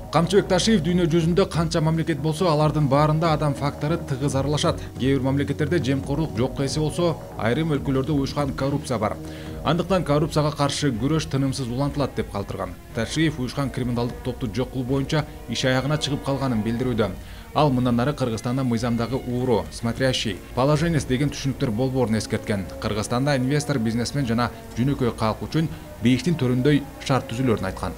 Камчыбек Ташиев дүйнө жүзүндө канча мамлекет болсо, алардын баарында адам фактору тыгыз аралашат. Кээ бир мамлекеттерде жемкорлук жок эсе болсо, айрым өлкөлөрдө уюшкан коррупция бар. Андыктан коррупцияга каршы күрөш тынымсыз улантылат деп калтырган. Ташиев уюшкан криминалдык топту жок кылуу боюнча иш аягына чыгып калганын билдирүүдө. Ал мындан ары Кыргызстанда мыйзамдагы ууру, смотрящий, положенец деген түшүнүктөр болбоорун эскерткен. Кыргызстанда инвестор, бизнесмен жана жөнөкөй калк үчүн бейиштин төрүндөй шарт түзүлөрүн айткан.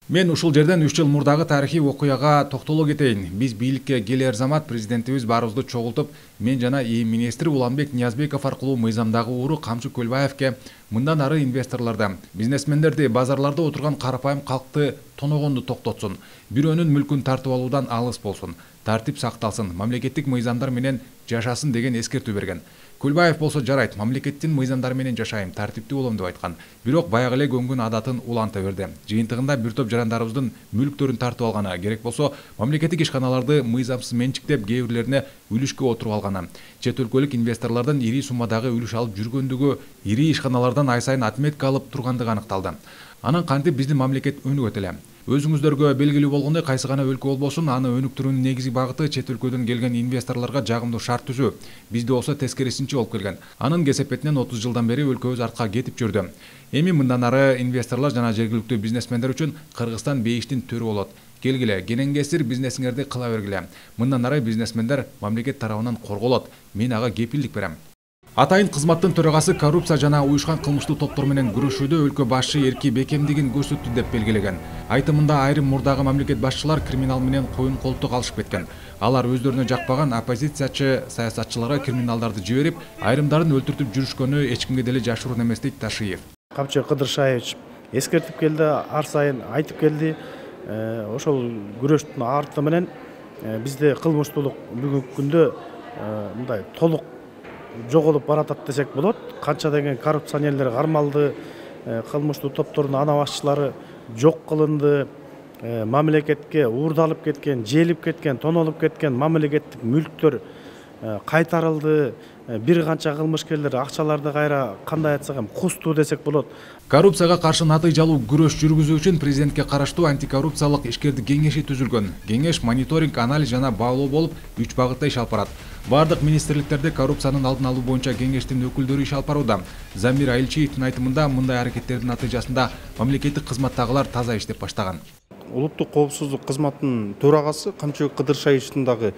Мен ушул жерден 3 жыл мурдагы тарыхый окуяга токтоло кетейин. Биз бийликке келер замат президентибиз баарыбызды чогултуп, мен жана ИИМ министри Уланбек Ниязбеков аркылуу мыйзамдагы ууру Камчы Көлбаевке мындан ары инвесторлорду, бизнесмендерди, базарларда отурган карапайым калкты тоногонду токтотсун. Бирөөнүн мүлкүн тартып алуудан алыс болсун, тартип сакталсын, мамлекеттик мыйзамдар менен жашасын деген эскертүү берген. Көлбаев болсо жарайт, мамлекеттин мыйзамдары менен жашайм, тартиптүү болом деп айткан. Бирок баягы эле көңгүн адатын уланта берди. Жыйынтыгында бир топ жарандарыбыздын мүлктөрүн тартып алганы, керек болсо мамлекеттик ишканаларды мыйзамсыз менчиктеп, кээ бирлерине үлүшкө отуруп алганы, чет өлкөлүк инвесторлордон ири суммадагы үлүш алып жүргөндүгү, ири ишканалардан ай сайын отметка алып тургандыгы аныкталды. Анан кантип биздин мамлекет өнүгөт эле? Өзүңүздөргө белгилүү болгондой, кайсы гана өлкө болбосун, аны өнүктүрүүнүн негизги багыты чет өлкөдөн келген инвесторлорго жагымдуу шарт түзүү. Бизде болсо тескерисинче болуп келген. Анын кесепетинен 30 жылдан бери өлкөбүз артка кетип жүрдү. Эми мындан ары инвесторлор жана жергиликтүү бизнесмендер үчүн Кыргызстан бейиштин төрү болот. Келгиле, кененгесир бизнесиңерди кыла бергиле. Мындан ары бизнесмендер мамлекет тарабынан корголот. Мен ага кепилдик берем. Атайын кызматтын төрагасы коррупция жана уюшкан кылмыштуу топтор менен күрөшүүдө өлкө башчы эрки бекемдигин көрсөттү деп белгилеген. Айтымында айрым мурдагы мамлекет башчылар криминал менен коюн колтук алышып кеткен. Алар өздөрүнө жакпаган оппозициячы саясатчыларга криминалдарды жиберип, айрымдарын өлтүртүп жүрүшкөнү эч кимге деле жашыруун эмес дейт Ташиев. Камчыбек Кыдыршаевич эскертип келди, ар сайын айтып келди. Ошол күрөштүн арты менен бизде кылмыштуулук бүгүнкү күндө мындай толук жоголуп баратат десек болот. Канча деген коррупционерлер кармалды, кылмыштуу топтордун ана башчылары жок кылынды, мамлекетке уурдалып кеткен, желип кеткен, тонолуп кеткен мамлекеттик мүлктөр кайтарылды. Бир канча кылмышкерлер акчаларды кайра кандай айтсак эми кусту десек болот. Коррупцияга каршы натыйжалуу күрөш жүргүзүү үчүн президентке караштуу антикоррупциялык ишкердик кеңеши түзүлгөн. Кеңеш мониторинг, анализ жана баалоо болуп 3 багытта иш алып барат. Бардык министрликтерде коррупциянын алдын алуу боюнча кеңештин өкүлдөрү иш алып барууда. Замир Айылчиевдин айтымында мындай аракеттердин натыйжасында мамлекеттик кызматтагылар таза иштеп баштаган. Улуттук коопсуздук кызматынын төрагасы Камчыбек Кыдыршаевичтин дагы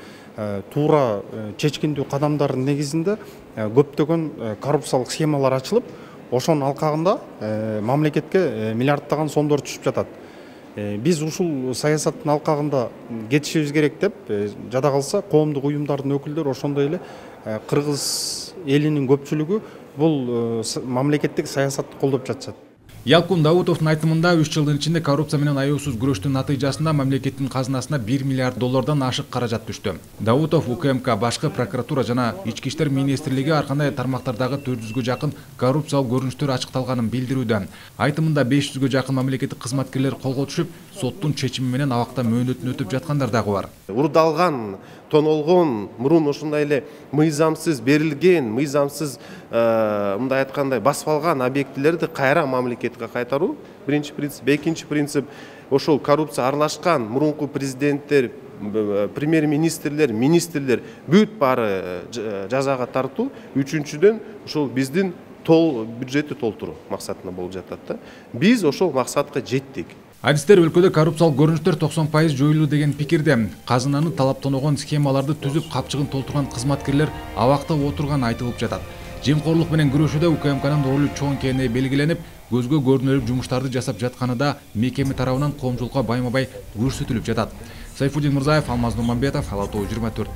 туура чечкиндүү кадамдардын негизинде көптөгөн коррупциялык схемалар ачылып, ошонун алкагында мамлекетке миллиарддаган сомдор түшүп жатат. Биз ушул саясаттын алкагында кетишибиз керек деп жада калса коомдук уюмдардын өкүлдөрү, ошондой эле кыргыз элинин көпчүлүгү бул мамлекеттик саясатты колдоп жатышат. Ялкун Даутовдун айтымында 3 жылдын ичинде коррупция менен аюусуз күрөштүн натыйжасында мамлекеттин казынасына 1 миллиард доллардан ашык каражат түштү. Даутов УКМК, башкы прокуратура жана Ички иштер министрлиги ар кандай тармактардагы 400гө жакын коррупциялык көрүнүштөр ачыкталганын билдирүүдө. Айтымында 500гө жакын мамлекеттик кызматкерлер колго түшүп, соттун чечими менен абакта мөөнөтүн өтүп жаткандар дагы бар. Урдалган, тонолгон, мурун ошондой эле мыйзамсыз берилген, мыйзамсыз мындай айткандай басып алган объектилерди кайра мамлекетке кайтаруу биринчи принцип. Экинчи принцип ошол коррупция аралашкан мурунку президенттер, премьер-министрлер, министрлер бүт баары жазага тартуу. Үчүнчүдөн ошол биздин бюджетти толтуруу максатына болуп жатат да. Биз ошол максатка жеттик. Адистер өлкөдө коррупциялык көрүнүштөр 90% жоюлуу деген пикирде. Казынаны талаптоногон схемаларды түзүп, капчыгын толтурган кызматкерлер абакта отурганы айтылып жатат. Жемкорлук менен күрөшүүдө УКМКнын ролу чоң экени белгиленип, көзгө көрүнөлүк жумуштарды жасап жатканы да мекеме тарабынан коомчулукка байма-бай көрсөтүлүп жатат. Сайфуддин Мырзаев, Алмаз Нурманбетов, Ала Тоо 24.